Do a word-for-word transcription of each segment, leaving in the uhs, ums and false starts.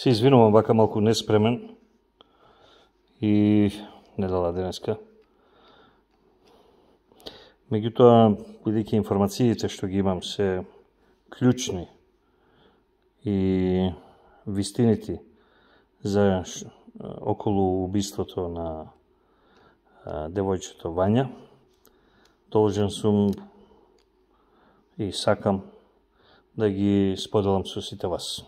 Се извинувам, вака малку неспремен и недела денеска. Меѓутоа, бидејќи информациите што ги имам се клучни и вистините за околу убиството на девојчето Вања, должен сум и сакам да ги споделам со сите вас.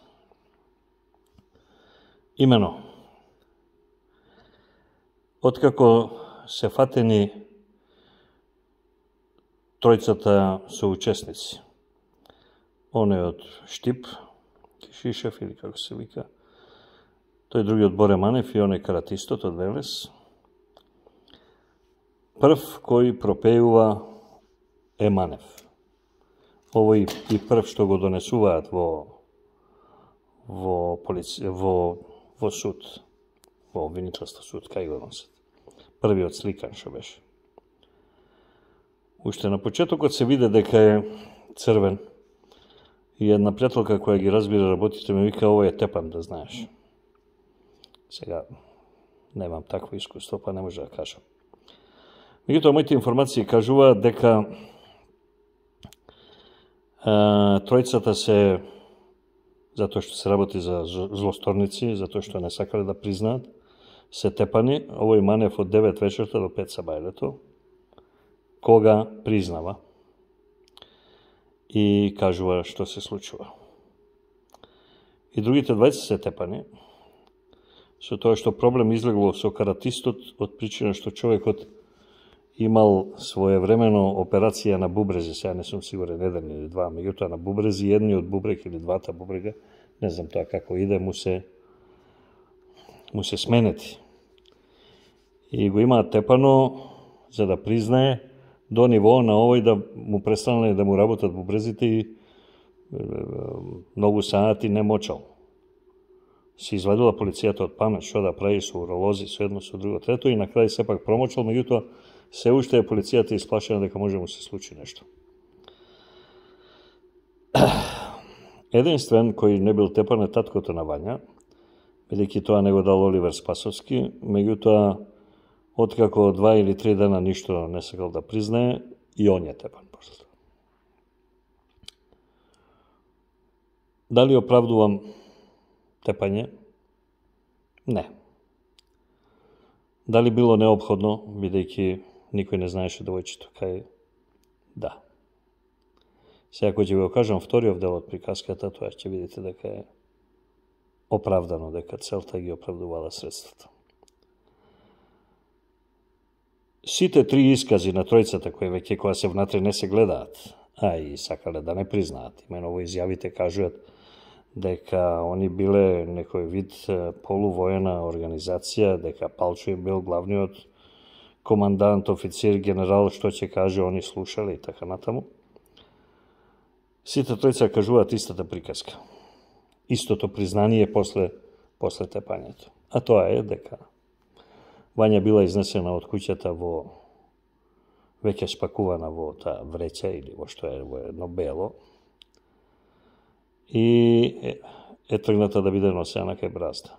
Имено, откако се фатени тројцата соучесници, оној од Штип, Кишишев или како се вика, тој другиот Боре Манев и оној каратистот од Велес, прв кој пропеува е Манев. Овој и прв што го донесуваат во во полиција, во во суд, во обвинителство суд, кај го носат. Првиот сликан што беше. Уште на почетокот се виде дека е црвен и една пријателка која ги разбира работите ми вика, овој е тепан, да знаеш. Сега немам такво искуство, па не може да кажам. Меѓутоа, моите информации кажуваат дека а, тројцата се, затоа што се работи за злосторници, затоа што не сакале да признаат, се тепани. Овој Манев од девет вечерта до пет сабајлето, кога признава и кажува што се случува. И другите двајца се тепани, со тоа што проблем излегло со каратистот од причина што човекот имал своевремено операција на бубрези, сега не сум сигурен еден или два, меѓутоа на бубрези, едниот бубрег или двата бубрега, не знам тоа како иде, му се му се сменети. И го имаат тепано за да признае до ниво на овој да му престанале да му работат бубрезите и многу сати не мочал. Се извадила полицијата од памет што да прави со уролози, со едно, со друго, трето и на крај сепак промочал, меѓутоа се уште е полицијата исплашена дека може му се случи нешто. Единствен кој не бил тепан е таткото на Вања, бидејќи тоа не го дал Оливер Спасовски, меѓутоа откако два или три дена ништо не сакал да признае, и он е тепан после. Дали оправдувам тепање? Не. Дали било неопходно, бидејќи никој не знаеше девојчето кај? Да. Сега кој ќе го кажам вториот дел од приказката, тоа ќе видите дека е оправдано, дека целта ги оправдувала средствата. Сите три искази на тројцата, кои веќе кога се внатре не се гледаат, а и сакале да не признаат, имено во изјавите кажуваат дека они биле некој вид полувоена организација, дека Палчо бил главниот командант, офицер, генерал, што ќе каже, они слушале и така натаму. Сите тројца кажуваат истата приказка. Истото признание после, после тепањето. А тоа е дека Вања била изнесена од куќата во веќе спакувана во таа вреќа или во што е во едно бело и е, е тргната да биде носена кај бразда.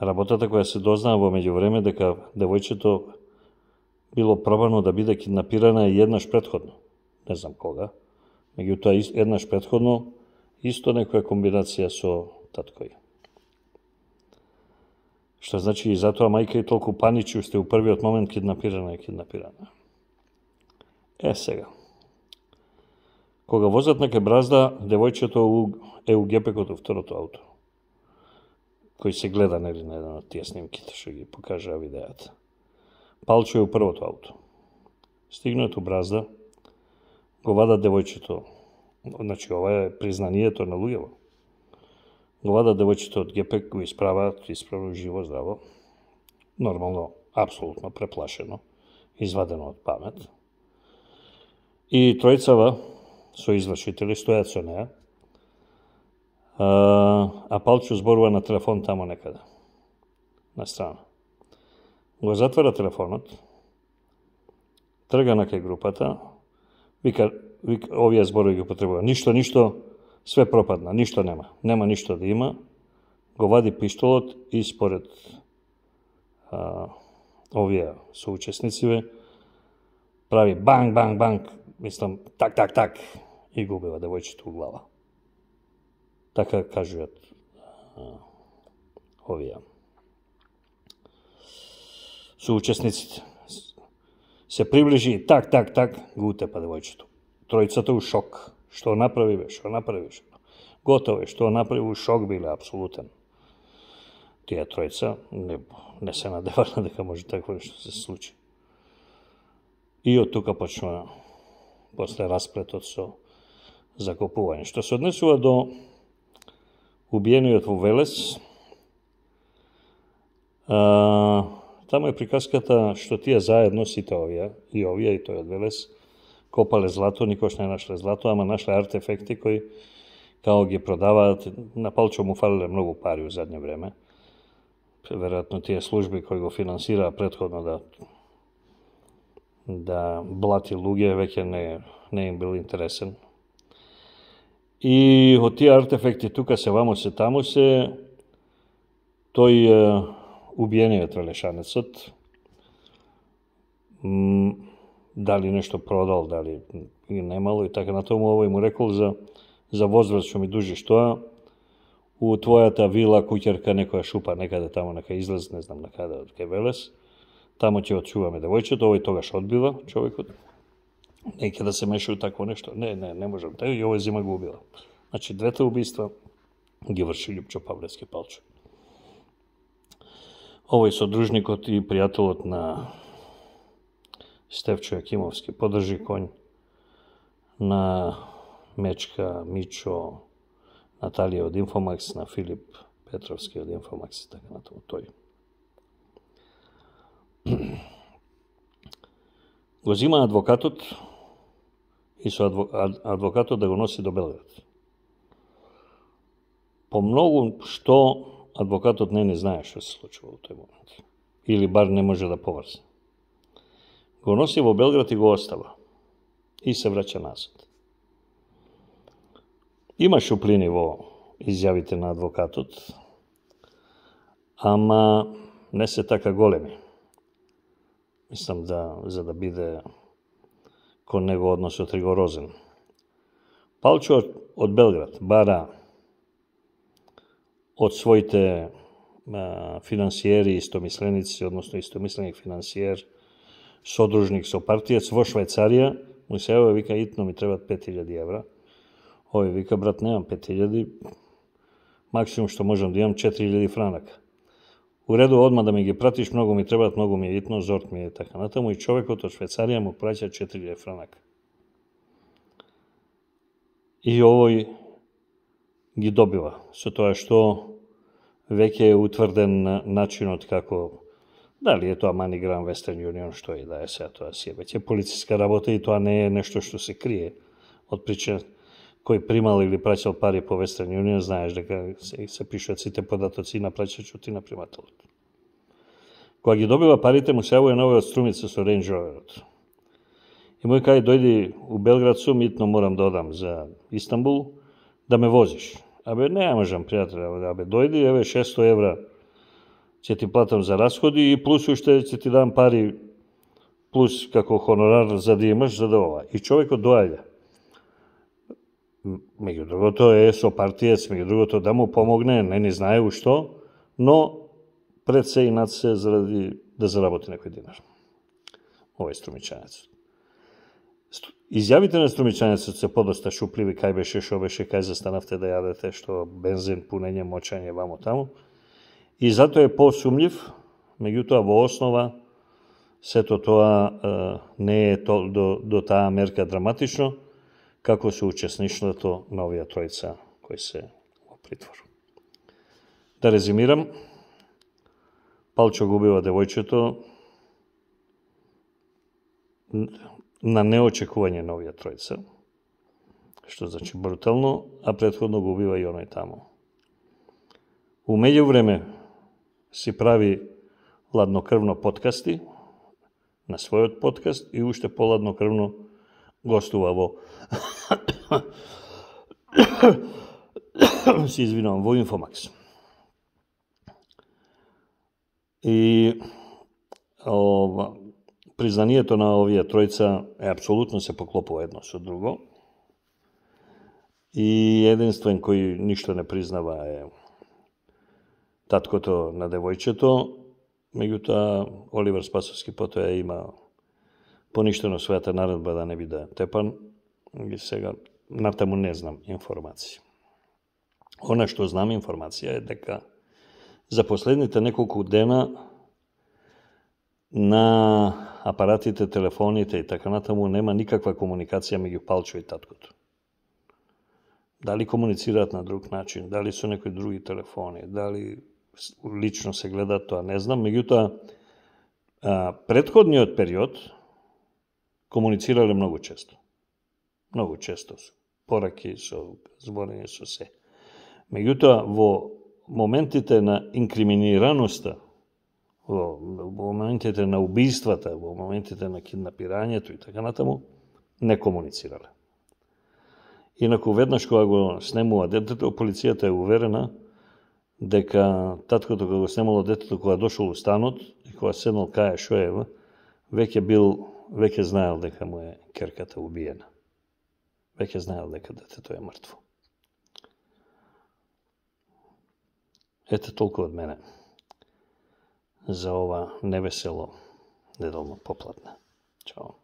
Работата која се дознаа во меѓувреме дека девојчето било пробано да биде киднапирана и еднаш претходно. Не знам кога. Меѓутоа еднаш претходно исто некоја комбинација со таткој. Што значи и затоа мајка и толку паничи уште у првиот момент киднапирана и киднапирана. Е сега. Кога возат на кај бразда, девојчето е у гепекот у второто ауто, кој се гледа нели на еден од тие снимките што ги покажа видеата. Палчо е у првото ауто. Стигнат у бразда, го вадат девојчето, значи ова е признанието на луѓето. Го вадат девојчето од гепек, го исправаат, исправно живо, здраво, нормално, апсолутно преплашено, извадено од памет. И тројцава со извршители стојат со неа, а, а Палчо зборува на телефон тамо некаде, на страна. Го затвара телефонот, трга на кај групата, вика, вика овие зборови ги потребува. Ништо, ништо, све пропадна, ништо нема. Нема ништо да има, го вади пиштолот и според а, овие соучеснициве прави банг, банг, банг, мислам, так, так, так, и го убива девојчето у глава. Така кажуваат а, овие соучесниците. Се приближи и так, так, так, го утепа девојчето. Тројцата у шок. Што направи, бе, што направи? Готово е, што направи, у шок биле, апсолутен. Тие тројца не, не се надевале дека може такво нешто се случи. И од тука почнува после расплетот со закопување. Што се однесува до убиениот во Велес, а, таму е приказката што тие заедно, сите овие, и овие, и тој од Велес, копале злато, никош не нашле злато, ама нашле артефекти кои као ги продаваат. На Палчо му фалиле многу пари у задње време. Веројатно тие служби кои го финансираа претходно да да блати луѓе, веќе не, не им бил интересен. И од тие артефекти тука се вамо се таму се тој е, убиениот велешанецот, м, дали нешто продал, дали и немало и така натаму, овој му рекол за за возврат што ми дужиш тоа, у твојата вила, куќерка, некоја шупа некаде таму, нека излез, не знам накаде, од кај Велес, таму ќе отчуваме девојчето, овој тогаш одбива, човекот, неќе да се меша у такво нешто, не, не, не можам, тај и овој зима го убива. Значи, двете убиства ги врши Љупчо Павлевски Палчо. Овој содружникот и пријателот на Стефчо Јакимовски подржи конј, на Мечка, Мичо, Наталија од Инфомакс, на Филип Петровски од Инфомакс и така натаму тој. Го зима адвокатот и со адвокатот да го носи до Белград. По многу што адвокатот не не знае што се случува во тој момент. Или бар не може да поврзе. Го носи во Белград и го остава. И се враќа назад. Има шуплини во изјавите на адвокатот, ама не се така големи. Мислам да, за да биде кон него односот ригорозен. Палчо од Белград бара од своите а, финансиери, истомисленици, односно истомисленик финансиер, содружник со партијец во Швајцарија, му се јавува, вика, итно ми требат пет илјади евра. Овој вика, брат, немам пет илјади, максимум што можам да имам четири илјади франака. У реду одма да ми ги пратиш, многу ми требат, многу ми е итно, зорт ми е така натаму, и човекот од Швајцарија му праќа четири илјади франака. И овој ги добива, со тоа што веќе е утврден начинот како, дали е тоа MoneyGram, Western Union, што и да е сега, тоа си е веќе полициска работа и тоа не е нешто што се крие од причина кој примал или праќал пари по Western Union, знаеш дека се, се пишуваат сите податоци на плаќачот и на примателот. Кога ги добива парите, му се јавува нови од Струмица со Range Roverот. И мој кај дојди у Белград сум, итно морам да одам за Истанбул, да ме возиш. Абе, не можам, пријател, абе, дојди, еве шесто евра ќе ти платам за расходи и плюс уште ќе ти дам пари, плюс како хонорар за да имаш, за да ова. И човекот доаѓа. Меѓу другото е со партиец, меѓу другото да му помогне, не ни знае у што, но пред се и над се заради да заработи некој динар. Овој струмичанецот. Изјавите на струмичанецот се подоста шупливи, кај беше, шо беше, кај застанавте да јадете, што бензин, пунење, мочање, вамо таму. И затоа е посумљив, меѓутоа во основа сето тоа е, не е то, до, до таа мерка драматично, како се учесништвото на овие тројца кои се во притвор. Да резимирам, Палчо го убива девојчето на неочекување на овие тројца, што значи брутално, а претходно го убива и оној таму. У меѓувреме си прави ладнокрвно подкасти на својот подкаст и уште поладнокрвно гостува во си извинувам, во Инфомакс. И ова, признанието на овие тројца е апсолутно се поклопува едно со друго. И единствен кој ништо не признава е таткото на девојчето, меѓутоа Оливер Спасовски потоа има поништено својата наредба да не биде тепан и сега натаму не знам информации. Она што знам информација е дека за последните неколку дена на апаратите, телефоните и така натаму нема никаква комуникација меѓу Палчо и таткото. Дали комуницираат на друг начин, дали со некои други телефони, дали лично се гледаат, тоа не знам. Меѓутоа, претходниот период комуницирале многу често. Многу често со пораки, со зборење, со се. Меѓутоа, во моментите на инкриминираноста, во, во моментите на убиствата, во моментите на киднапирањето и така натаму, не комуницирале. Инаку веднаш кога го снемува детето, полицијата е уверена дека таткото кога го снемало детето, кога дошол у станот и кога седнал кај Шоева, веќе бил, веќе знаел дека му е керката убиена. Веќе знаел дека детето е мртво. Ете толку од мене за ова невесело неделно попладне. Чао.